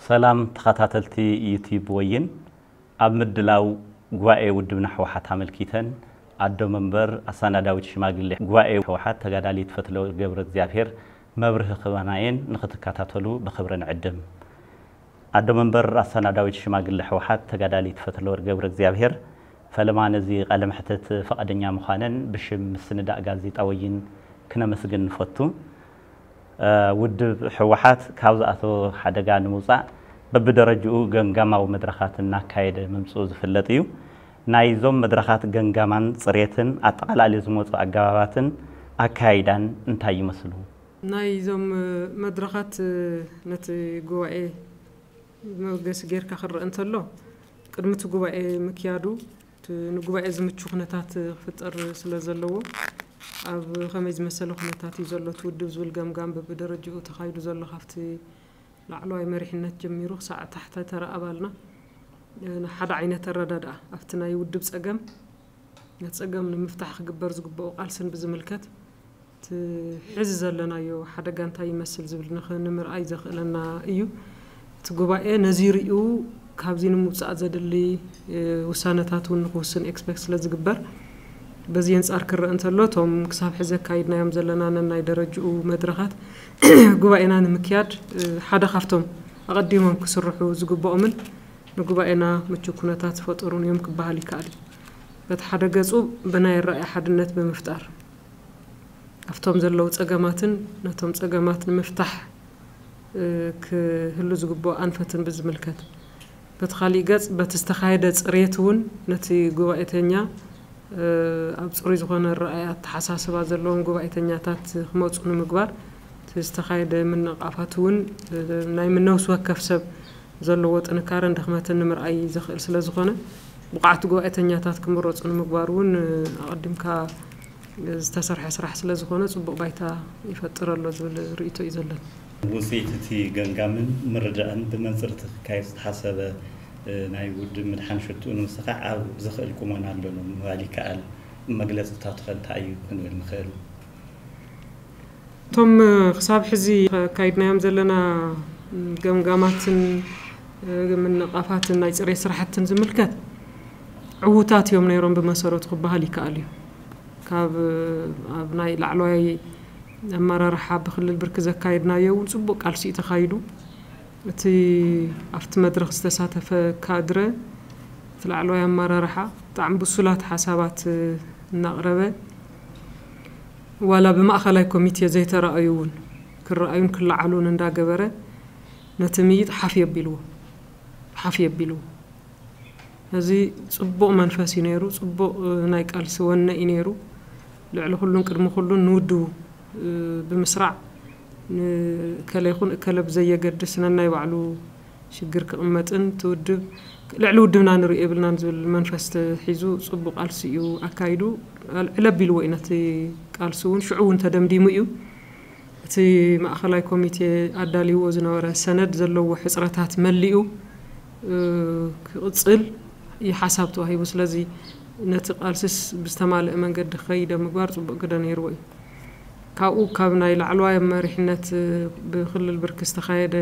ሰላም ተኸታተልቲ ዩቲዩብ ወይን፣ ኣብ ምድላው ጉባኤ ውድብና ህወሓት ኣመልኪተን ኣዶ መንበር ኣሳናዳዊት ሽማግሌ ጉባኤ ህወሓት ተጋዳሊት ፈትለወርቅ ገብረ እግዚኣብሔር መብርሂ ክህባና እየን፣ ንኽትከታተሉ ብኽብሪ ንዕድም። ኣዶ መንበር ኣሳናዳዊት ሽማግሌ ህወሓት ተጋዳሊት ፈትለወርቅ ገብረ እግዚኣብሔር ፈለማ ነዚ ቃለ መሕትት ፈቓደኛ ምዃነን ብሽም ምስንዳእ ጋዜጣ ወይን ክነመስግን ንፈቱ። እ፣ ውድብ ህወሓት ካብ ዝኣተወ ሓደጋ ንምውፃእ በብደረጅኡ ገምጋማዊ መድረኻት እናካየደ ምምፅኡ ዝፍለጥ እዩ። ናይዞም መድረኻት ገምጋማን ፅሬትን ኣጠቓላሊ ዝመፁ ኣገባባትን ኣካያይዳን እንታይ ይመስሉ? ናይዞም መድረኻት ነቲ ጉባኤ መበገሲ ጌርካ ክረአ እንተሎ፣ ቅድሚ እቲ ጉባኤ ምክያዱ እቲ ንጉባኤ ዝምቹ ኩነታት ክፍጠር ስለ ዘለዎ፣ ኣብ ከመይ ዝመሰለ ኩነታት እዩ ዘሎ እቲ ውድብ ዝብል ገምጋም በብደረጅኡ ተኻይዱ ዘሎ፣ ካብቲ ላዕለዋይ መሪሕነት ጀሚሩ ክሳዕ ታሕተተራ ኣባልና ሓደ ዓይነት ኣረዳድኣ ኣብቲ ናይ ውድብ ጸገም፣ ነቲ ጸገም ንምፍታሕ ክግበር ዝግብኦ ቃልስን ብዝምልከት፣ እቲ ሕዚ ዘለናዮ ሓደጋ እንታይ ይመስል ዝብል ንኽ-፣ ንምርኣይ ዘኽእለና እዩ። እቲ ጉባኤ ነዚ ሪኡ ካብዚ ንምውጻእ ዘድሊ፣ እ፣ ውሳነታት እውን ንኽውስን ኤክስፔክት ስለ ዝግበር፣ በዚ ኣንጻር ክረአ እንተሎ፣ እቶም ክሳብ ሕዚ ኣካይድናዮም ዘለና ነናይ ደረጅኡ መድረኻት ጉባኤና ንምክያድ፣ እ፣ ሓደ ካብቶም ኣቐዲሞም ክስርሑ ዝግብኦምን ንጉባኤና ምቹእ ኩነታት ዝፈጠሩን እዮም ክበሃል ይከኣል እዩ። በቲ ሓደ ገጹ ብናይ ኣረኣእያ ሓድነት ብምፍጣር፣ ኣብቶም ዘለዉ ጸገማትን ነቶም ጸገማት ንምፍታሕ፣ እ፣ ክህሉ ዝግብኦ ኣንፈትን ብዝምልከት፣ በቲ ካሊእ ገጽ በቲ ዝተኻየደ ጽሬት እውን ነቲ ጉባኤተኛ፣ እ፣ ኣብ ጽሩይ ዝኾነ ኣረኣእያ ኣተሓሳስባ ዘለዎም ጉባኤተኛታት ክመጹ ንምግባር እቲ ዝተኻየደ ምንቓፋት እውን፣ እ፣ ናይ ምነውስ ወከፍ ሰብ ዘለዎ ጥንካረን ድኽመትን ንምርኣይ ዘኽእል ስለ ዝኾነ፣ ብቑዓት ጉባኤተኛታት ክምረጹ ንምግባር እውን፣ እ፣ ኣቐዲምካ ዝተሰርሐ ስራሕ ስለ ዝኾነ፣ ጽቡቕ ባይታ ይፈጥር ኣሎ ዝብል ርእይቶ እዩ ዘለኒ። ውጽኢት እቲ ገምጋምን ምርዳእን ብመንጽር እቲ ክካየድ ዝተሓሰበ፣ እ፣ ናይ ውድብ ምድሓን ሽትኡ ንምስኻዕ ኣብ ዝኽእል ቁመና ኣሎ ምባል ይከኣል። መግለጺታቱ ከ እንታይ እዩ ክንብል ንኽእል? እቶም ክሳብ ሕዚ ኣካይድናዮም ዘለና ገምጋማትን ምንቓፋትን ናይ ጽሬት ስራሕትን ዝምልከት ዕዉታት እዮም ነይሮም ብመሰረቱ ክበሃል ይከኣል እዩ። ካብ ኣብ ናይ ላዕለዋይ ኣመራርሓ ብክልል ብርኪ ዘካየድናዮ እውን ጽቡቕ ቃልሲ እዩ ተኻይዱ። እቲ ኣብቲ መድረኽ ዝተሳተፈ ካድረ፣ እቲ ላዕለዋይ ኣመራርሓ ብጣዕሚ ብሱላት ሓሳባት እናቕረበ፣ ዋላ ብማእኸላይ ኮሚቴ ዘይተራእዩ እውን ክረኣዩን ክለዓሉን እንዳገበረ ነቲ ምይይጥ ሓፍ የቢልዎ፣ ሓፍ የቢልዎ። እዚ ጽቡቕ መንፈስ እዩ ነይሩ፣ ጽቡቕ፣ እ፣ ናይ ቃልሲ ወነ እዩ ነይሩ። ልዕሊ ኩሉን ቅድሚ ኩሉን ንውድቡ፣ እ፣ ብምስራዕ ንእከለ ይኹን እከለ ብዘየገድስ ነናይ ባዕሉ ሽግር ክቕመጥን እቲ ውድብ ልዕሊ ውድብና ንሪኦ የብልናን ዝብል መንፈስ ተሒዙ ጽቡቕ ቃልሲ እዩ ኣካይዱ። ዕለ-፣ ዕለብ ኢልዎ እዩ ነቲ ቃልሲ እውን፣ ሽዑ እውን ተደምዲሙ እዩ። እቲ ማእኸላይ ኮሚቴ ኣዳልይዎ ዝነበረ ሰነድ ዘለዎ ሕጽረታት መሊኡ፣ እ፣ ክቕጽል እዩ ሓሳብ ተዋሂቡ። ስለዚ ነቲ ቃልስስ ብዝተማልአ መንገዲ ክኸይድ ኣብ ምግባር ጽቡቕ ግደ ነይርዎ እዩ። ካብኡ ካብ ናይ ላዕለዋይ መሪሕነት ብክልል ብርኪ ዝተኻየደ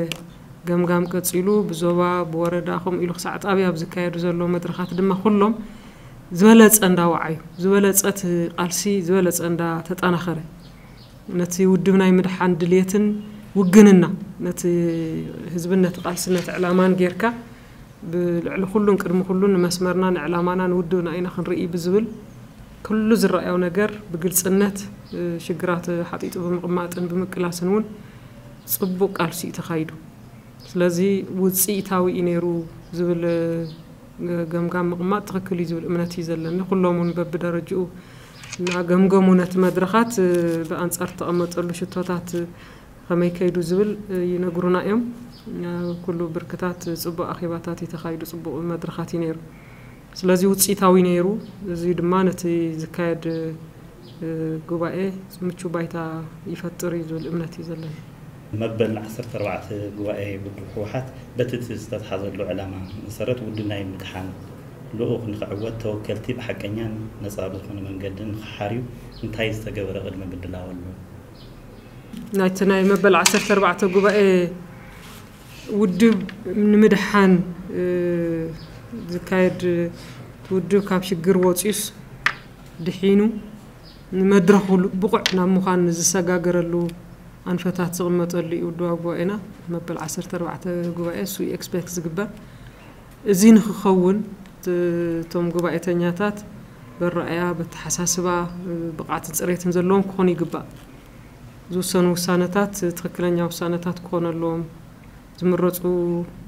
ገምጋም ቀጺሉ ብዞባ፣ ብወረዳ፣ ከምኡ ኢሉ ክሳዕ ጣብያ ኣብ ዝካየዱ ዘለዉ መድረኻት ድማ ኩሎም ዝበለጸ እንዳወዓዩ፣ ዝበለጸ እቲ ቃልሲ ዝበለጸ እንዳተጠናኸረ፣ ነቲ ውድብ ናይ ምድሓን ድልየትን ውግንና፣ ነቲ ህዝብን ነቲ ቃልስን ነቲ ዕላማን ጌርካ፣ ብልዕሊ ኩሉን ቅድሚ ኩሉን ንመስመርና፣ ንዕላማና፣ ንውድብና ኢና ክንርኢ ብዝብል ኩሉ ዝረኣዮ ነገር ብግልጽነት፣ እ፣ ሽግራት ሓጢጡ ብምቕማጥን ብምቅላስን እውን ጽቡቕ ቃልሲ እዩ ተኻይዱ። ስለዚ ውጽኢታዊ እዩ ነይሩ ዝብል፣ እ፣ ገምጋም ምቕማጥ ትኽክል እዩ ዝብል እምነት እዩ ዘለኒ። ኩሎም እውን በብደረጅኡ እናገምገሙ ነቲ መድረኻት፣ እ፣ ብኣንጻር እተቐመጠሉ ሽቶታት፣ እ፣ ከመይ ከይዱ ዝብል፣ እ፣ ይነግሩና እዮም። እ፣ ኩሉ ብርክታት ጽቡቕ ኣኼባታት እዩ ተኻይዱ፣ ጽቡቕ መድረኻት እዩ ነይሩ። ስለዚ ውፅኢታዊ ነይሩ። እዚ ድማ ነቲ ዝካየድ ጉባኤ ምቹ ባይታ ይፈጥር እዩ ዝብል እምነት እዩ ዘለና። መበል ዓሰርተ ኣርባዕተ ጉባኤ ውድብ ህወሓት በቲ እቲ ዝተትሓዘሉ ዕላማ መሰረት ውድብ ናይ ምድሓን ልኡኽ ንኽዕወት ተወከልቲ ብሓቀኛን ነፃ ብዝኾነ መንገዲ ንኽሓርዩ እንታይ ዝተገበረ ቅድመ ምድላው ኣሎ? ናይቲ ናይ መበል ዓሰርተ ኣርባዕተ ጉባኤ ውድብ ንምድሓን ዝካየድ ውድብ ካብ ሽግር ወፂኡስ ድሒኑ ንመድረኹ ብቑዕ ናብ ምዃን ዝሰጋገረሉ ኣንፈታት ዝቕመጠሉ እዩ። ውድባዊ ጉባኤና መበል ዓሰርተ ኣርባዕተ ጉባኤ እሱ ኤክስፔክት ዝግበር። እዚ ንክኸውን እቶም ጉባኤተኛታት በረኣያ በተሓሳስባ ብቕዓትን ፅሬትን ዘለዎም ክኾኑ ይግባእ። ዝውሰኑ ውሳነታት ትኽክለኛ ውሳነታት ክኾኑ ኣለዎም። ዝምረፁ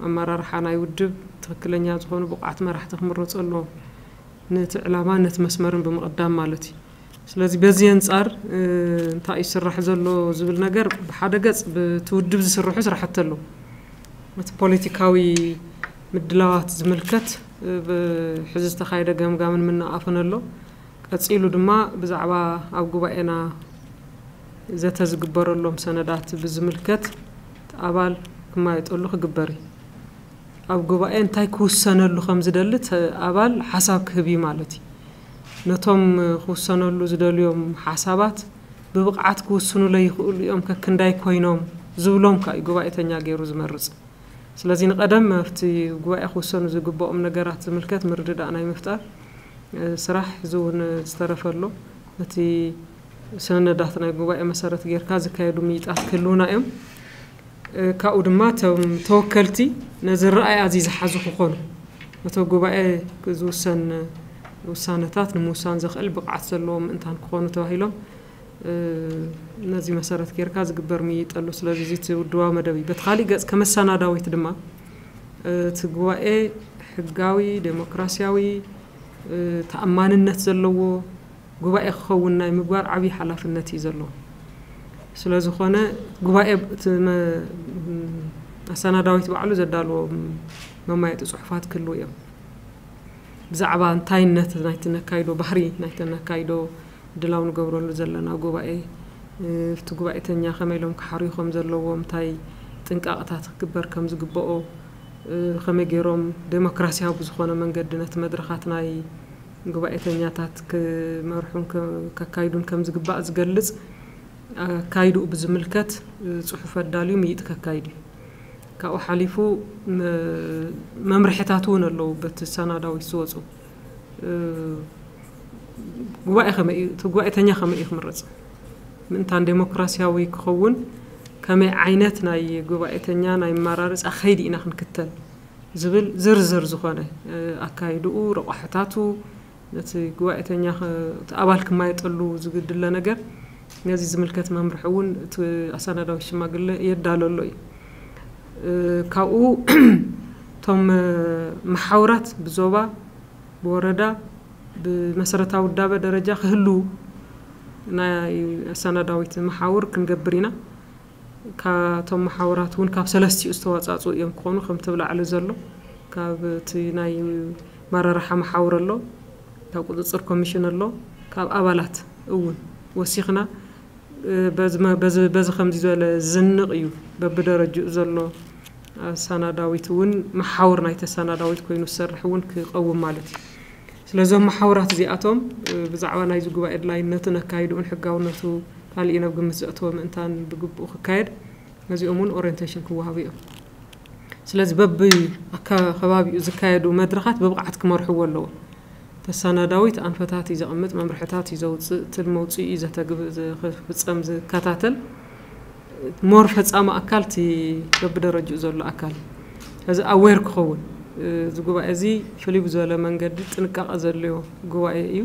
ኣመራርሓ ናይ ውድብ ትኽክለኛ ዝኾኑ ብቑዓት መራሕቲ ክምረፁ ኣለዎም። ነቲ ዕላማ ነቲ መስመርን ብምቕዳም ማለት እዩ። ስለዚ በዚ ኣንጻር እንታይ ይስራሕ ዘሎ ዝብል ነገር ብሓደ ገጽ ብቲ ውድብ ዝስርሑ ስራሕቲ ኣለዉ። እቲ ፖለቲካዊ ምድላዋት ዝምልከት ብሕዚ ዝተኻየደ ገምጋምን ምንኣፍን ኣሎ። ቀጺሉ ድማ ብዛዕባ ኣብ ጉባኤና ዘተ ዝግበረሎም ሰነዳት ብዝምልከት ኣባል ክማየጠሉ ክግበር እዩ። ኣብ ጉባኤ እንታይ ክውሰነሉ ከም ዝደሊ እቲ ኣባል ሓሳብ ክህብ እዩ ማለት እዩ። ነቶም ክውሰነሉ ዝደልዮም ሓሳባት ብብቕዓት ክውስኑለይ ይኽእሉ እዮም ከክንዳይ ኮይኖም ዝብሎም ከኣ እዩ ጉባኤተኛ ገይሩ ዝመርጽ። ስለዚ ንቐደም ኣብቲ ጉባኤ ክውሰኑ ዝግብኦም ነገራት ዝምልከት ምርድዳእ ናይ ምፍጣር ስራሕ ሕዚ እውን ዝተረፈ ኣሎ። ነቲ ሰነዳት ናይ ጉባኤ መሰረት ጌርካ ዝካየዱ ምይጣት ክህልውና እዮም። ካብኡ ድማ እቶም ተወከልቲ ነዚ ረኣይ ኣዚ ዝሓዙ ክኾኑ ነቶ ጉባኤ ዝውሰን ውሳነታት ንምውሳን ዘኽእል ብቕዓት ዘለዎም ምእንታን ክኾኑ ተባሂሎም ነዚ መሰረት ጌርካ ዝግበር ምይይጥ ኣሎ። ስለዚ እዚ እቲ ውድባዊ መደብ እዩ። በቲ ካሊእ ገጽ ከመሰናዳዊት ድማ እቲ ጉባኤ ሕጋዊ፣ ዴሞክራሲያዊ፣ ተኣማንነት ዘለዎ ጉባኤ ክኸውን ናይ ምግባር ዓብዪ ሓላፍነት እዩ ዘለዎ። ስለዝኾነ ጉባኤ እቲ መ- ኣሰናዳዊት ባዕሉ ዘዳልዎም መማየጢ ጽሑፋት ክህልዉ እዮም። ብዛዕባ እንታይነት ናይቲ ነካይዶ፣ ባህሪ ናይቲ ነካይዶ ድላው ንገብረሉ ዘለና ጉባኤ፣ እቲ ጉባኤተኛ ከመይ ኢሎም ክሓርዩ ከም ዘለዎም፣ እንታይ ጥንቃቕታት ክግበር ከም ዝግበኦ፣ ከመይ ገይሮም ዴሞክራሲያዊ ብዝኾነ መንገዲ ነቲ መድረኻት ናይ ጉባኤተኛታት ክመርሑን ከካይዱን ከም ዝግባእ ዝገልጽ ኣካይድኡ ብዝምልከት ጽሑፍ ኣዳልዩ ምይጥ ከካይድ እዩ። ካብኡ ሓሊፉ መምርሕታት እውን ኣለዉ በቲ ሰናዳዊት ዝወፁ። ጉባኤ ከመይ እዩ እቲ ጉባኤተኛ ከመይ እዩ ክምረፅ? ምእንታን ዴሞክራሲያዊ ክኸውን ከመይ ዓይነት ናይ ጉባኤተኛ ናይ መመራረፂ ከይዲ ኢና ክንክተል ዝብል ዝርዝር ዝኾነ ኣካይድኡ፣ ረቋሕታቱ፣ ነቲ ጉባኤተኛ እቲ ኣባል ክማየጠሉ ዝግድለ ነገር ነዚ ዝምልከት መምርሒ እውን እቲ ኣሰናዳዊ ሽማግለ የዳለሎ እዩ። ካብኡ እቶም መሓውራት ብዞባ፣ ብወረዳ፣ ብመሰረታዊ ውዳበ ደረጃ ክህልዉ ናይ ኣሰናዳዊት መሓውር ክንገብር ኢና። ካቶም መሓውራት እውን ካብ ሰለስቲኡ ዝተዋፃፅኡ እዮም ክኾኑ። ከምቲ ብላዕሊ ዘሎ ካብ እቲ ናይ መራርሓ መሓውር ኣሎ፣ ካብ ቁፅፅር ኮሚሽን ኣሎ፣ ካብ ኣባላት እውን ወሲኽና በዚ ከምዚ ዝበለ ዝንቕ እዩ በብደረጅኡ ዘሎ ኣሰናዳዊት እውን መሓውር ናይቲ ኣሰናዳዊት ኮይኑ ዝሰርሕ እውን ክቐውም ማለት እዩ። ስለዞም መሓውራት እዚኣቶም ብዛዕባ ናይዚ ጉባኤ ድላይነትን ኣካይድኡን ሕጋውነቱ ካሊእ ናብ ግምት ዘእተወ ምእንታን ብግብኡ ክካየድ ነዚኦም እውን ኦሪንቴሽን ክወሃቡ እዮም። ስለዚ በቢ ከባቢኡ ዝካየዱ መድረኻት ብብቕዓት ክመርሕዎ ኣለዎ። ተሰናዳዊት ኣንፈታት እዩ ዘቕምጥ፣ መምርሕታት እዩ ዘውፅእ፣ ትል መውፅኢ እዩ ዘተግብ ዝፍፀም ዝከታተል ሞር ፈፃሚ ኣካል እቲ በብደረጅኡ ዘሎ ኣካል እዚ ኣዌር ክኸውን እዚ ጉባኤ እዚ ፍልይ ብዝበለ መንገዲ ጥንቃቐ ዘድልዮ ጉባኤ እዩ።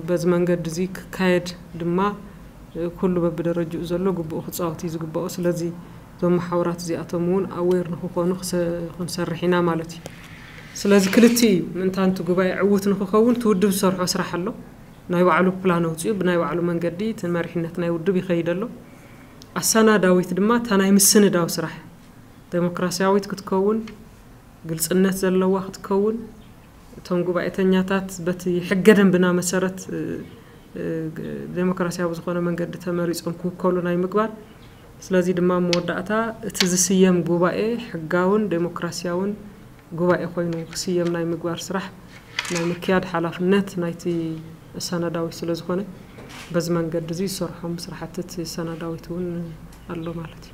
በዚ መንገዲ እዚ ክካየድ ድማ ኩሉ በብደረጅኡ ዘሎ ግብኡ ክፃወት እዩ ዝግባኦ። ስለዚ እዞም መሓውራት እዚኣቶም እውን ኣዌር ንክኾኑ ክንሰርሕ ኢና ማለት እዩ። ስለዚ ክልቲ እዩ ምእንታን እቲ ጉባኤ ዕዉት ንክኸውን እቲ ውድብ ዝሰርሖ ስራሕ ኣሎ። ናይ ባዕሉ ፕላን ኣውፅኡ ብናይ ባዕሉ መንገዲ እቲ መሪሕነት ናይ ውድብ ይኸይድ ኣሎ። ኣሰናዳዊት ድማ እታ ናይ ምስንዳው ስራሕ ዴሞክራሲያዊት ክትከውን፣ ግልፅነት ዘለዋ ክትከውን፣ እቶም ጉባኤተኛታት በቲ ሕገ ደንብና መሰረት ዴሞክራሲያዊ ዝኾነ መንገዲ ተመሪፆም ክውከሉ ናይ ምግባር። ስለዚ ድማ መወዳእታ እቲ ዝስየም ጉባኤ ሕጋውን ዴሞክራሲያውን ጉባኤ ኮይኑ ክስየም ናይ ምግባር ስራሕ ናይ ምክያድ ሓላፍነት ናይቲ ኣሰናዳዊ ስለ ዝኾነ፣ በዚ መንገዲ እዚ ዝሰርሖም ስራሕቲ እቲ ኣሰናዳዊት እውን ኣሎ ማለት እዩ።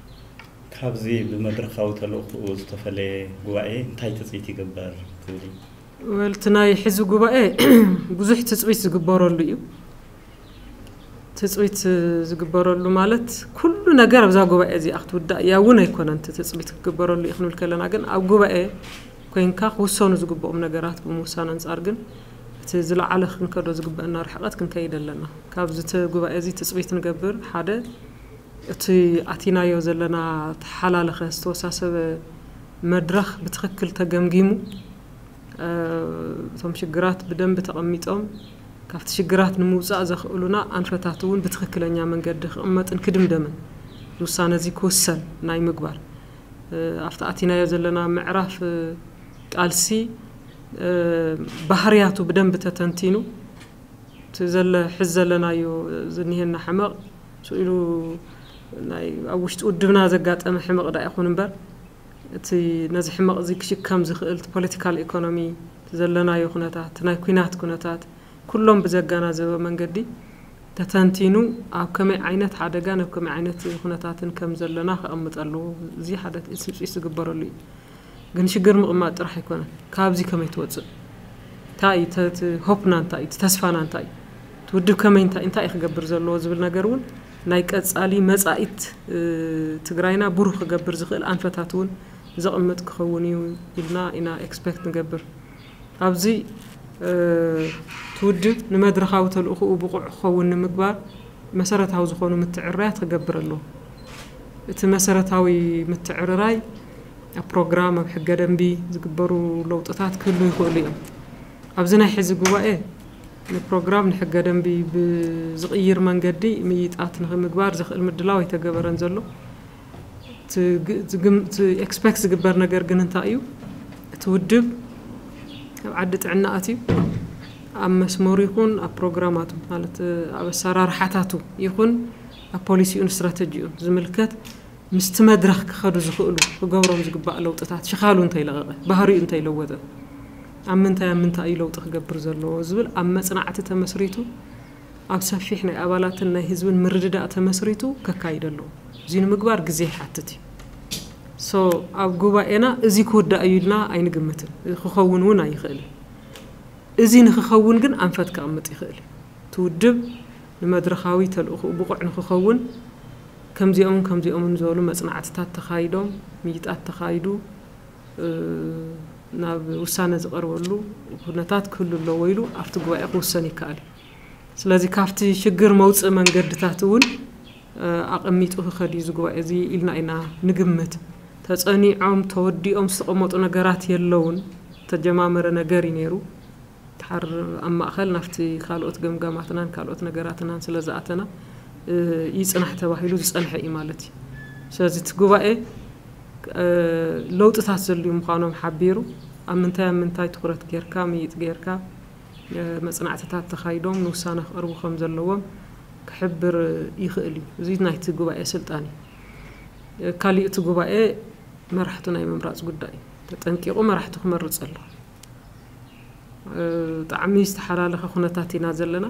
ካብዚ ብመድረኻዊ ተልእኽኡ ዝተፈለየ ጉባኤ እንታይ ትፅኢት ይግበር ትብል? ወልቲ ናይ ሕዚ ጉባኤ ብዙሕ ትፅቢት ዝግበረሉ እዩ። ትፅቢት ዝግበረሉ ማለት ኩሉ ነገር ኣብዛ ጉባኤ እዚኣ ክትውዳእ እያ እውን ኣይኮነን። እቲ ትፅቢት ክግበረሉ እዩ ክንብል ከለና ግን ኣብ ጉባኤ ኮይንካ ክውሰኑ ዝግብኦም ነገራት ብምውሳን ኣንፃር ግን እቲ ዝለዓለ ክንከዶ ዝግበአና ርሕቀት ክንከይድ ኣለና። ካብዚ እቲ ጉባኤ እዚ ትፅቢት ንገብር ሓደ እቲ ኣቲናዮ ዘለና ተሓላለኸ ዝተወሳሰበ መድረኽ ብትኽክል ተገምጊሙ እቶም ሽግራት ብደንቢ ተቐሚጦም ካብቲ ሽግራት ንምውፃእ ዘኽእሉና ኣንፈታት እውን ብትኽክለኛ መንገዲ ክቕመጥን ክድምደምን ውሳነ እዚ ክውሰን ናይ ምግባር ኣብቲ ኣቲናዮ ዘለና ምዕራፍ ቃልሲ ባህርያቱ ብደንቢ ተተንቲኑ እቲ ዘለ ሕዚ ዘለናዮ ዝኒሄና ሕመቕ ስኢሉ ናይ ኣብ ውሽጢ ውድብና ዘጋጠመ ሕመቕ ዳ ይኹን እምበር እቲ ነዚ ሕመቕ እዚ ክሽከም ዝኽእል ፖለቲካል ኢኮኖሚ ዘለናዮ ኩነታት ናይ ኩናት ኩነታት ኩሎም ብዘጋናዘበ መንገዲ ተተንቲኑ ኣብ ከመይ ዓይነት ሓደጋን ኣብ ከመይ ዓይነት ኩነታትን ከም ዘለና ከቐምጥ ኣለዎ። እዚ ሓደ ስምፂት ዝግበረሉ እዩ። ግን ሽግር ምቕማጥ ጥራሕ ኣይኮነን። ካብዚ ከመይ ትወፅእ እንታይ እዩ ተ- ተ- ሆፕና እንታይ እዩ ተስፋና እንታይ እዩ እቲ ውድብ ከመይ እንታይ እንታይ እዩ ክገብር ዘለዎ ዝብል ነገር እውን ናይ ቀፃሊ መፃኢት ትግራይና ብሩህ ክገብር ዝኽእል ኣንፈታት እውን ዘቕምጥ ክኸውን እዩ ኢልና ኢና ኤክስፔክት ንገብር። ኣብዚ እቲ ውድብ ንመድረኻዊ ተልእኽኡ ብቑዕ ክኸውን ንምግባር መሰረታዊ ዝኾኑ ምትዕርራያት ክገብር ኣለዎ። እቲ መሰረታዊ ምትዕርራይ ኣብ ፕሮግራም ኣብ ሕገ ደንቢ ዝግበሩ ለውጥታት ክህሉ ይኽእሉ እዮም። ኣብዚ ናይ ሕዚ ጉባኤ ንፕሮግራም ንሕገ ደንቢ ብዝቕይር መንገዲ ምይጣት ንክምግባር ዘኽእል ምድላው ኣይተገበረን ዘሎ። ኤክስፔክት ዝግበር ነገር ግን እንታይ እዩ? እቲ ውድብ ኣብ ዓዲ ጥዕና ኣትዩ ኣብ መስመሩ ይኹን ኣብ ፕሮግራማቱ ማለት ኣብ ኣሰራርሓታቱ ይኹን ኣብ ፖሊሲኡን ስትራተጂኡን ዝምልከት ምስቲ መድረኽ ክኸዱ ዝኽእሉ ክገብሮም ዝግባእ ለውጥታት ሽኻሉ እንተይለቐቐ ባህሪኡ እንተይለወጠ ኣብ ምንታይ ኣብ ምንታይ እዩ ለውጢ ክገብር ዘለዎ ዝብል ኣብ መፅናዕቲ ተመስሪቱ ኣብ ሰፊሕ ናይ ኣባላትን ናይ ህዝብን ምርድዳእ ተመስሪቱ ከካይድ ኣለዎ። እዚ ንምግባር ግዜ ይሓትት እዩ። ሶ ኣብ ጉባኤና እዚ ክውዳእ እዩ ኢልና ኣይንግምትን፣ ክኸውን እውን ኣይኽእልን። እዚ ንክኸውን ግን ኣንፈት ከቕምጥ ይኽእል እዩ። እቲ ውድብ ንመድረኻዊ ተልእኽኡ ብቑዕ ንክኸውን ከምዚኦምን ከምዚኦምን ዝበሉ መፅናዕትታት ተኻይዶም፣ ምይጣት ተኻይዱ ናብ ውሳነ ዝቐርበሉ ኩነታት ክህሉ ኣለዎ ኢሉ ኣብቲ ጉባኤ ክውሰን ይከኣል እዩ። ስለዚ ካብቲ ሽግር መውፅኢ መንገድታት እውን ኣቐሚጡ ክኸድ እዩ እዚ ጉባኤ እዚ ኢልና ኢና ንግምት። ተፀኒዖም ተወዲኦም ዝተቐመጡ ነገራት የለውን። ተጀማመረ ነገር እዩ ነይሩ። ድሓር ኣብ ማእኸል ናብቲ ካልኦት ገምጋማትናን ካልኦት ነገራትናን ስለ ዝኣተና ይፅናሕ ተባሂሉ ዝፀንሐ እዩ ማለት እዩ። ስለዚ እቲ ጉባኤ ለውጥታት ዘልዩ ምዃኖም ሓቢሩ ኣብ ምንታይ ኣብ ምንታይ ትኹረት ጌርካ ምይጥ ጌርካ መፅናዕትታት ተኻይዶም ንውሳነ ክቐርቡ ከም ዘለዎም ክሕብር ይኽእል እዩ። እዚ ናይቲ ጉባኤ ስልጣን እዩ። ካሊእ እቲ ጉባኤ መራሕቱ ናይ ምምራፅ ጉዳይ እዩ። ተጠንቂቑ መራሕቱ ክመርፅ ኣለዎ። ብጣዕሚ ዝተሓላለኸ ኩነታት ኢና ዘለና።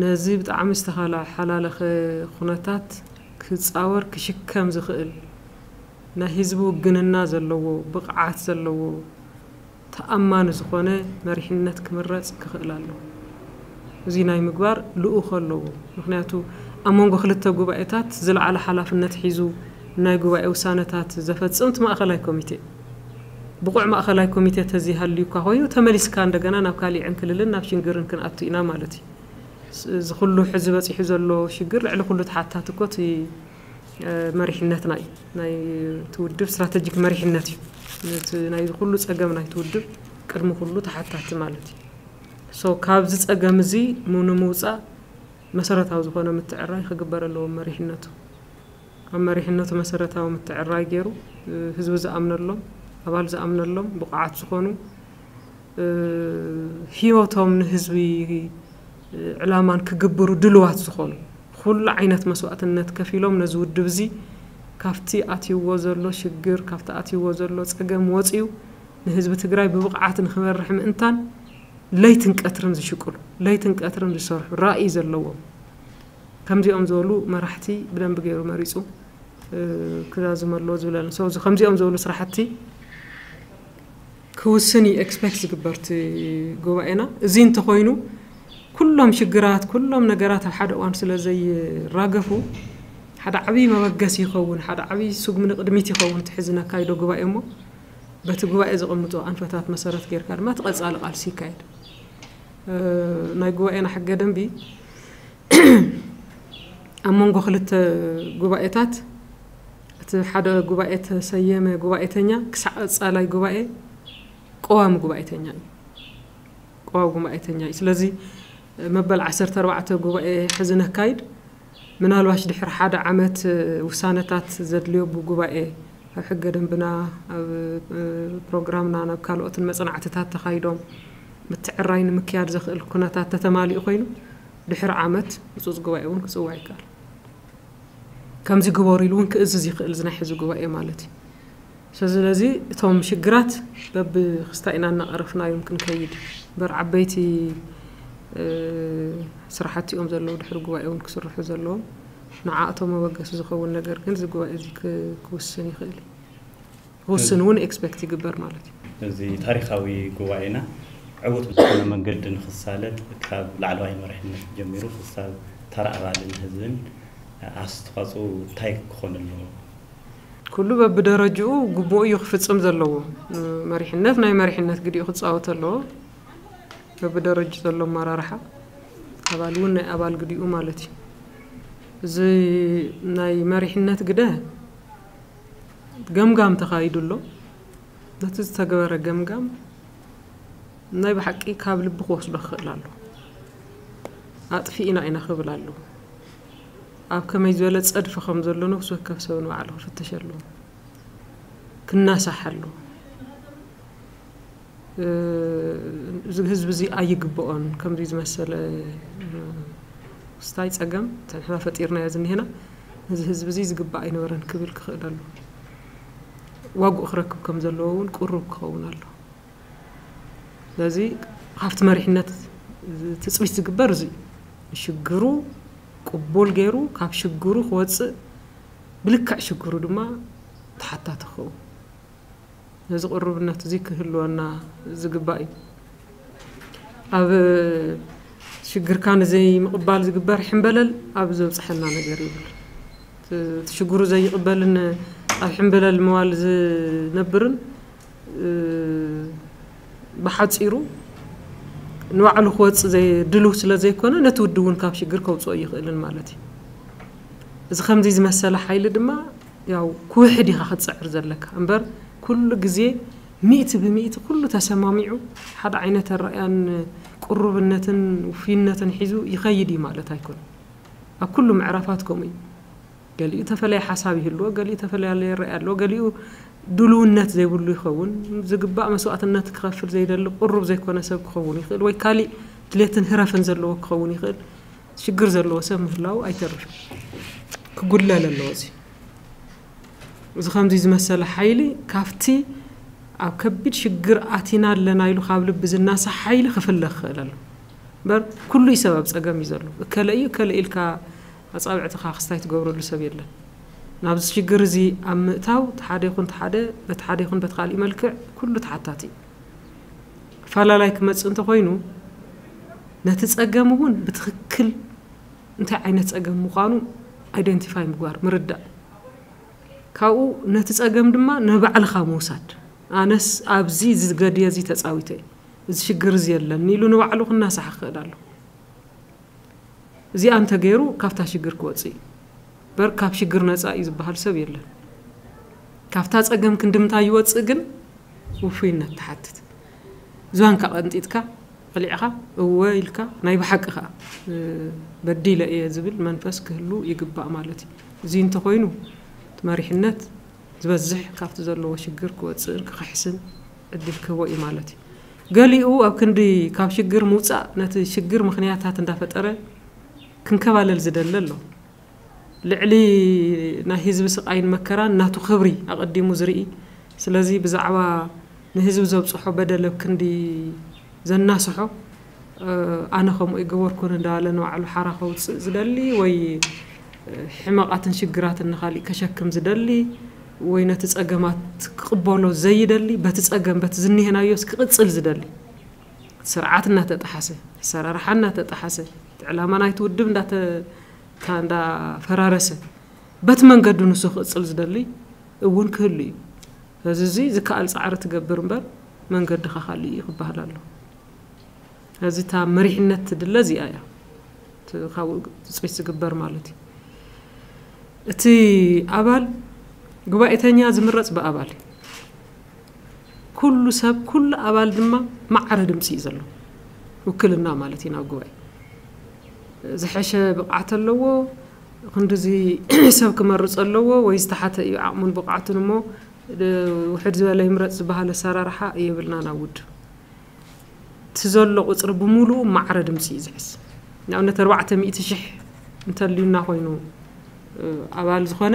ነዚ ብጣዕሚ ዝተሓላለኸ ኩነታት ክፃወር ክሽከም ዝኽእል ናይ ህዝቢ ውግንና ዘለዎ ብቕዓት ዘለዎ ተኣማኒ ዝኾነ መሪሕነት ክምረፅ ክኽእል ኣለዎ። እዚ ናይ ምግባር ልኡኽ ኣለዎ። ምክንያቱ ኣብ መንጎ ክልተ ጉባኤታት ዝለዓለ ሓላፍነት ሒዙ ናይ ጉባኤ ውሳነታት ዘፈፅም እቲ ማእኸላይ ኮሚቴ ብቑዕ ማእኸላይ ኮሚቴ ተዘይሃልዩ እኳ ኮይኑ ተመሊስካ እንደገና ናብ ካሊዕ ዕንክልልን ናብ ሽግርን ክንኣቱ ኢና ማለት እዩ። እዚ ኩሉ ሕዚ በፂሑ ዘሎ ሽግር ልዕሊ ኩሉ ተሓታቲ እኮ እቲ መሪሕነትና እዩ። ናይ እቲ ውድብ ስትራተጂክ መሪሕነት እዩ። እቲ ናይ ኩሉ ፀገም ናይ እቲ ውድብ ቅድሚ ኩሉ ተሓታቲ ማለት እዩ። ሶ ካብዚ ፀገም እዚ ንምውፃእ መሰረታዊ ዝኾነ ምትዕራይ ክግበር ኣለዎ። መሪሕነቱ ኣብ መሪሕነቱ መሰረታዊ ምትዕራይ ገይሩ ህዝቢ ዝኣምነሎም ኣባል ዝኣምነሎም ብቑዓት ዝኾኑ እ፣ ህይወቶም ንህዝቢ፣ እ፣ ዕላማን ክግብሩ ድልዋት ዝኾኑ፣ ኩሉ ዓይነት መስዋእትነት ከፊሎም ነዚ ውድብ እዚ ካብቲ ኣትይዎ ዘሎ ሽግር፣ ካብቲ ኣትይዎ ዘሎ ጸገም ወጺኡ ንህዝቢ ትግራይ ብብቕዓት ንኽመርሕ ምእንታን ለይትን ቀትርን ዝሽቅሉ፣ ለይትን ቀትርን ዝሰርሑ፣ ራእይ ዘለዎም፣ ከምዚኦም ዝበሉ መራሕቲ ብደንቢ ገይሩ መሪጹ፣ እ፣ ክዛዝመ ኣለዎ ዝብለኒ። So፣ እዚ ከምዚኦም ዝበሉ ስራሕቲ ክውስን እዩ ኤክስፔክት ዝግበር እቲ ጉባኤና። እዚ እንተኾይኑ፣ ኩሎም ሽግራት፣ ኩሎም ነገራት ኣብ ሓደ እዋን ስለ ዘይራገፉ፣ ሓደ ዓብዪ መበገሲ ይኸውን፣ ሓደ ዓብዪ ስጉሚ ንቕድሚት ይኸውን፣ እቲ ሕዚ ነካይዶ ጉባኤ እሞ፣ በቲ ጉባኤ ዘቐምጦ ኣንፈታት መሰረት ጌርካ ድማ እቲ ቀጻሊ ቃልሲ ይካየድ። እ፣ ናይ ጉባኤና ሕገ ደንቢ ኣብ መንጎ ክልተ ጉባኤታት፣ እቲ ሓደ ጉባኤ ተሰየመ ጉባኤተኛ ክሳዕ ቀጻላይ ጉባኤ ቀዋሚ ጉባኤተኛ እዩ። ቀዋሚ ጉባኤተኛ እዩ። ስለዚ መበል ዓሰርተ ኣርባዕተ ጉባኤ ሕዚ ነካይድ። ምናልባሽ ድሕሪ ሓደ ዓመት ውሳነታት ዘድልዮ ብጉባኤ ኣብ ሕገ ደንብና፣ ኣብ፣ እ፣ ፕሮግራምና፣ ናብ ካልኦትን መጽናዕትታት ተኻይዶም ምትዕራይ ንምክያድ ዘኽእል ኩነታት ተተማሊኡ ኮይኑ፣ ድሕሪ ዓመት ህጹጽ ጉባኤ እውን ክጽዋዕ ይከኣል። ከምዚ ግበሩ ኢሉ እውን ክእዝዝ ይኽእል፣ እዚ ናይ ሕዚ ጉባኤ ማለት እዩ። ስለዚ እቶም ሽግራት በብክስታ ኢና እናቐረፍናዮም ክንከይድ። እምበር ዓበይቲ፣ እ፣ ስራሕቲ እዮም ዘለዉ፣ ድሕሪ ጉባኤ እውን ክስርሑ ዘለዎም። ንዓእቶም መበገሲ ዝኸውን ነገር ግን እዚ ጉባኤ እዚ ክ-፣ ክውስን ይኽእል እዩ። ክውስን እውን ኤክስፔክት ይግበር ማለት እዩ። እዚ ታሪኻዊ ጉባኤና ዕዉት ብዝኾነ መንገዲ ንኽሳለጥ ካብ ላዕለዋይ መሪሕነት ጀሚሩ ክሳብ ተራ ኣባልን ህዝብን ኣስተዋፅኦ እንታይ ክኾን ኣለዎ? ኩሉ በብደረጅኡ ግቡኡ እዩ ክፍጽም ዘለዎ። መሪሕነት ናይ መሪሕነት ግዲኡ ክጻወት ኣለዎ። በብደረጅ ዘሎ ኣመራርሓ፣ ኣባል እውን ናይ ኣባል ግዲኡ ማለት እዩ። እዚ ናይ መሪሕነት ግደ ገምጋም ተኻይዱ ኣሎ። ነቲ ዝተገበረ ገምጋም ናይ ብሓቂ ካብ ልቢ ክወስዶ ክኽእል ኣሎ። ኣጥፊእና ኢና ክብል ኣሎ። ኣብ ከመይ ዝበለ ጸድፊ ከም ዘሎ ነፍሲ ወከፍ ሰብ ንባዕሉ ክፍትሽ ኣለዎ። ክናሳሕ ኣለዎ። እ፣ እዚ ህዝቢ እዚ ኣይግብኦን፣ ከምዚ ዝመሰለ፣ እ፣ ክስታይ ጸገም ንሕና ፈጢርናዮ ዝኒሄና፣ እዚ ህዝቢ እዚ ዝግባእ ኣይነበረን ክብል ክኽእል ኣለዎ። ዋግኡ ክረክብ ከም ዘለዎ እውን ቅሩብ ክኸውን ኣለዎ። ስለዚ ካብቲ መሪሕነት ትጽቢት ዝግበር እዚ እዩ። ንሽግሩ ቅቡል ገይሩ ካብ ሽግሩ ክወጽእ፣ ብልክዕ ሽግሩ ድማ ተሓታቲ ክኸውን። ነዚ ቅሩብነት እዚ ክህልወና ዝግባእ እዩ። ኣብ ሽግርካ ንዘይምቕባል ዝግበር ሕምበለል ኣብ ዘብጽሐና ነገር ይብል። እቲ ሽግሩ ዘይቕበልን ኣብ ሕምበለል ምዋል ዝነብርን፣ እ፣ ብሓጺሩ ንባዕሉ ክወጽእ ዘይ-፣ ድሉው ስለ ዘይኮነ፣ ነቲ ውድብ እውን ካብ ሽግር ከውጽኦ ኣይኽእልን ማለት እዩ። እዚ ከምዚ ዝመሰለ ሓይሊ ድማ ያው ክውሕድ ኢኻ ክትጽዕር ዘለካ እምበር፣ ኩሉ ግዜ ሚእቲ ብሚእቲ ኩሉ ተሰማሚዑ ሓደ ዓይነት ኣረኣእያን ቅሩብነትን ውፍይነትን ሒዙ ይኸይድ እዩ ማለት ኣይኮነን። ኣብ ኩሉ ምዕራፋት ከምኡ እዩ። ገሊኡ ተፈለየ ሓሳብ ይህልዎ፣ ገሊኡ ተፈላለየ ርእይ ኣለዎ፣ ገሊኡ ድልውነት ዘይብሉ ይኸውን። ዝግባእ መስዋእትነት ክኸፍል ዘይደሊ ቅሩብ ዘይኮነ ሰብ ክኸውን ይኽእል፣ ወይ ካሊእ ድሌትን ህረፍን ዘለዎ ክኸውን ይኽእል። ሽግር ዘለዎ ሰብ ምህላው ኣይተርፍን። ክጉድለል ኣለዎ እዚ። እዚ ከምዚ ዝመሰለ ሓይሊ ካብቲ ኣብ ከቢድ ሽግር ኣቲና ኣለና ኢሉ ካብ ልቢ ዝናሳሕ ሓይሊ ክፍለ ክኽእል ኣሎ። እምበር ኩሉ እዩ ሰብ ኣብ ጸገም እዩ ዘሎ። እከለ እዩ፣ እከለ ኢልካ ኣጻብዕትኻ ክስታይ ትገብረሉ ሰብ የለን። ናብዚ ሽግር እዚ ኣብ ምእታው፣ እቲ ሓደ ይኹን እቲ ሓደ፣ በቲ ሓደ ይኹን በቲ ካልእ መልክዕ ኩሉ ተሓታቲ እዩ። ኣፈላላይ ክመጽእ እንተኾይኑ፣ ነቲ ጸገም እውን ብትኽክል እንታይ ዓይነት ጸገም ምዃኑ ኣይደንቲፋይ ምግባር፣ ምርዳእ። ካብኡ ነቲ ጸገም ድማ ንባዕልኻ ምውሳድ። ኣነስ ኣብዚ ዝገድየ እዚ ተጻዊተ እየ፣ እዚ ሽግር እዚ የለን ኢሉ ንባዕሉ ክናሳሕ ክኽእል ኣሎ። እዚኣ እንተገይሩ ካብታ ሽግር ክወጽእ እዩ። እምበር ካብ ሽግር ነጻ እዩ ዝበሃል ሰብ የለን። ካብታ ጸገም ክንድምታ ይወጽእ ግን ውፉይነት ትሓትት። ዝባንካ ቀንጢጥካ፣ ቀሊዕኻ፣ እወ ኢልካ፣ ናይ ብሓቂ ከኣ፣ እ፣ በዲለ እየ ዝብል መንፈስ ክህሉ ይግባእ ማለት እዩ። እዚ እንተኾይኑ፣ እቲ መሪሕነት ዝበዝሕ ካብቲ ዘለዎ ሽግር ክወጽእን ክኽሕስን ዕድል ክህቦ እዩ ማለት እዩ። ገሊኡ ኣብ ክንዲ ካብ ሽግር ምውፃእ ነቲ ሽግር ምኽንያታት እንዳፈጠረ ክንከባለል ዝደለ ኣሎ። ልዕሊ ናይ ህዝቢ ስቓይን መከራን ናቱ ክብሪ ኣቐዲሙ ዝርኢ፣ ስለዚ ብዛዕባ ንህዝቢ ዘብፅሖ በደል ኣብ ክንዲ ዘናስሖ፣ ኣነ ከምኡ ይገበርኩን እንዳበለ ንባዕሉ ሓራ ከውፅእ ዝደሊ ወይ ሕመቓትን ሽግራትን ንኻሊእ ከሸክም ዝደሊ ወይ ነቲ ፀገማት ክቕበሎ ዘይደሊ፣ በቲ ፀገም በቲ ዝኒሀናዮስ ክቕፅል ዝደሊ፣ ስርዓት እናተጠሓሰ፣ ኣሰራርሓ እናተጠሓሰ፣ እቲ ዕላማ ናይቲ ውድብ እንዳተ-፣ እንዳፈራረሰ፣ በቲ መንገዱ ንሱ ክቕፅል ዝደሊ እውን ክህሉ እዩ። እዚ እዚ ዝከኣል ፃዕሪ ትገብር እምበር መንገድኻ ካልእ እዩ ክበሃል ኣሎ። እዚ እታ መሪሕነት ትድለ እዚኣ እያ። እቲ ካብኡ ትፅቢት ዝግበር ማለት እዩ። እቲ ኣባል ጉባኤተኛ ዝምረፅ ብኣባል እዩ። ኩሉ ሰብ፣ ኩሉ ኣባል ድማ ማዕረ ድምፂ እዩ ዘለዎ። ውክልና ማለት እዩ ናብ ጉባኤ። ዝሐሸ ብቕዓት ኣለዎ፣ ክንድዚ ሰብ ክመርፅ ኣለዎ ወይ ዝተሓተ እዩ ዓቕሙን ብቕዓቱን እሞ ውሕድ ዝበለ ይምረፅ ዝበሃል ኣሰራርሓ የብልና ናብ ውድብ። እቲ ዘሎ ቁፅሪ ብምሉኡ ማዕረ ድምፂ እዩ ዝሕዝ። ንኣብነት ኣርባዕተ ሚእቲ ሽሕ እንተልዩና ኮይኑ ኣባል ዝኾነ፣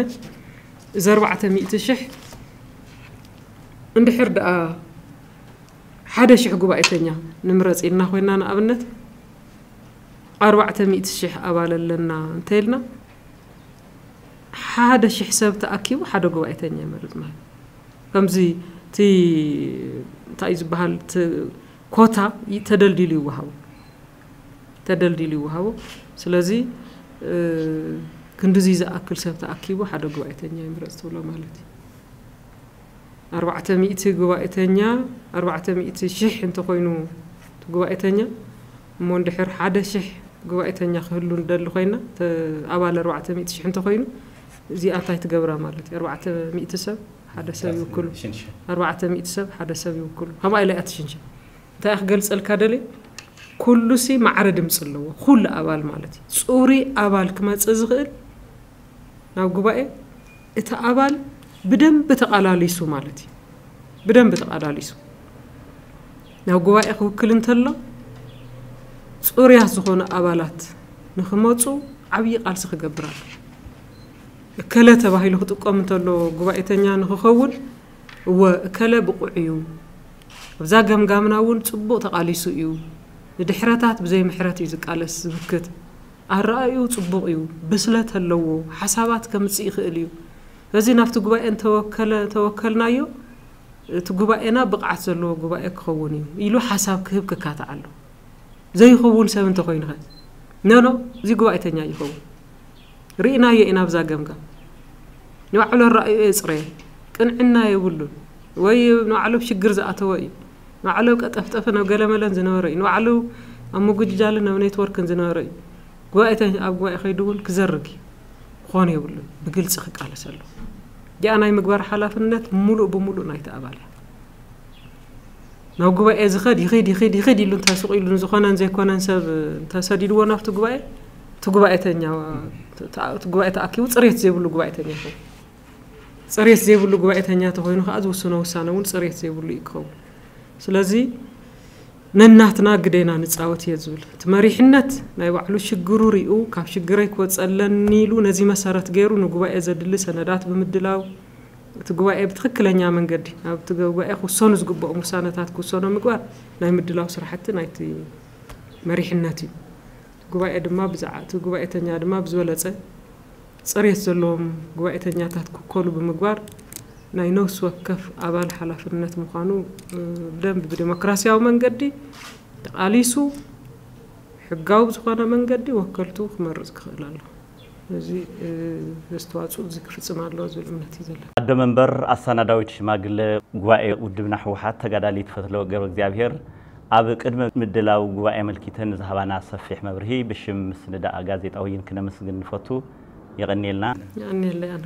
እዚ ኣርባዕተ ሚእቲ ሽሕ እንድሕር ደኣ ሓደ ሽሕ ጉባኤተኛ ንምረፅ ኢልና ኮይና ንኣብነት ኣርባዕተ ሚእቲ ሽሕ ኣባል ኣለና እንተኢልና ሓደ ሽሕ ሰብ ተኣኪቡ ሓደ ጉባኤተኛ ይመርፅ ማለት ከምዚ እቲ እንታይ እዩ ዝበሃል እቲ ኮታ ተደልዲሉ ይወሃቡ ተደልዲሉ ይወሃቡ። ስለዚ ክንድዚ ዝኣክል ሰብ ተኣኪቡ ሓደ ጉባኤተኛ ይምረፅ ትብሎ ማለት እዩ። ኣርባዕተ ሚእቲ ጉባኤተኛ ኣርባዕተ ሚእቲ ሽሕ እንተኮይኑ እቲ ጉባኤተኛ እሞ እንድሕር ሓደ ሽሕ ጉባኤተኛ ክህሉ ንደሊ ኮይና ኣባል ኣርባዕተ ሚእቲ ሽሕ እንተኮይኑ እዚኣ እንታይ ትገብራ ማለት እዩ? ኣርባዕተ ሚእቲ ሰብ ሓደ ሰብ ይውክሉ። ኣርባዕተ ሚእቲ ሰብ ሓደ ሰብ ይውክሉ። ከምኣ ኢላ እያ ትሽንሸን። እንታይ ክገልፀልካ ደልየ? ኩሉሲ ማዕረ ድምፂ ኣለዎ። ኩሉ ኣባል ማለት እዩ። ፅሩይ ኣባል ክመፅእ ዝኽእል ናብ ጉባኤ እቲ ኣባል ብደንብ ተቓላሊሱ ማለት እዩ። ብደንብ ተቓላሊሱ ናብ ጉባኤ ክውክል እንተሎ ፅሩያት ዝኾኑ ኣባላት ንክመፁ ዓብዪ ቃልሲ ክገብር ኣሎ። እከለ ተባሂሉ ክጥቀም እንተሎ ጉባኤተኛ ንክኸውን እወ እከለ ብቑዕ እዩ። ኣብዛ ገምጋምና እውን ፅቡቕ ተቓሊሱ እዩ። ንድሕረታት ብዘይ ምሕረት እዩ ዝቃለስ ዝምክት። ኣረኣእዩ ፅቡቕ እዩ፣ ብስለት ኣለዎ፣ ሓሳባት ከምፅእ ይኽእል እዩ። ስለዚ ናብቲ ጉባኤ እንተወከለ ተወከልናዮ እቲ ጉባኤና ብቕዓት ዘለዎ ጉባኤ ክኸውን እዩ ኢሉ ሓሳብ ክህብ ክካታዕ ኣሎ። ዘይኸውን ሰብ እንተኮይኑ ኸ? ኖ ኖ፣ እዚ ጉባኤተኛ ይኸውን። ርኢናዮ ኢና ብዛ ገምጋም። ንባዕሉ ኣረኣእዮ የፅረየ፣ ቅንዕና የብሉን ወይ ንባዕሉ ኣብ ሽግር ዝኣተወ እዩ። ንባዕሉ ኣብ ቀጠፍጠፍን ኣብ ገለመለን ዝነበረ እዩ። ንባዕሉ ኣብ ምጉጅጃልን ኣብ ኔትወርክን ዝነበረ እዩ። ጉባኤተ ኣብ ጉባኤ ከይዱ እውን ክዘርግ እዩ። ክኾን የብሉን። ብግልፂ ክቃለስ ኣሎ። እዚኣ ናይ ምግባር ሓላፍነት ሙሉእ ብሙሉእ ናይቲ ኣባል እያ። ናብ ጉባኤ ዝኸድ ይኸድ ይኸድ ይኸድ ኢሉ እንተስቕ ኢሉ ንዝኾነን ዘይኮነን ሰብ እንተሰዲድዎ ናብቲ ጉባኤ እቲ ጉባኤተኛ እቲ ጉባኤ ተኣኪቡ ፅሬት ዘይብሉ ጉባኤተኛ ይኸውን። ፅሬት ዘይብሉ ጉባኤተኛ ተኮይኑ ከዓ ዝውስኖ ውሳነ እውን ፅሬት ዘይብሉ እዩ ክኸውን። ስለዚ ነናትና ግዴና ንፃወት እየ ዝብል እቲ መሪሕነት ናይ ባዕሉ ሽግሩ ሪኡ ካብ ሽግረይ ክወፀለኒ ኢሉ ነዚ መሰረት ገይሩ ንጉባኤ ዘድሊ ሰነዳት ብምድላው እቲ ጉባኤ ብትኽክለኛ መንገዲ ናብቲ ጉባኤ ክውሰኑ ዝግብኦም ውሳነታት ክውሰኖ ምግባር ናይ ምድላው ስራሕቲ ናይቲ መሪሕነት እዩ። ጉባኤ ድማ ብዛዕ እቲ ጉባኤተኛ ድማ ብዝበለፀ ፅሬት ዘለዎም ጉባኤተኛታት ክውከሉ ብምግባር ናይ ነፍሲ ወከፍ ኣባል ሓላፍነት ምዃኑ ብደንብ ብዴሞክራሲያዊ መንገዲ ተቓሊሱ ሕጋዊ ብዝኾነ መንገዲ ወከልቱ ክመርፅ ክኽእል ኣሎ። እዚ ኣስተዋፅኦ እዚ ክፍፅም ኣለዎ ዝብል እምነት እዩ ዘለና። ኣዶ መንበር ኣሳናዳዊት ሽማግለ ጉባኤ ውድብና ህወሓት ተጋዳሊት ፈትለወርቅ ገብረእግዚኣብሄር ኣብ ቅድመ ምድላው ጉባኤ ኣመልኪተን ንዝሃባና ሰፊሕ መብርሂ ብሽም ምስንዳእ ጋዜጣ ወይን ክነመስግን ንፈቱ። የቐንየልና። የቐንየለይ ኣነ።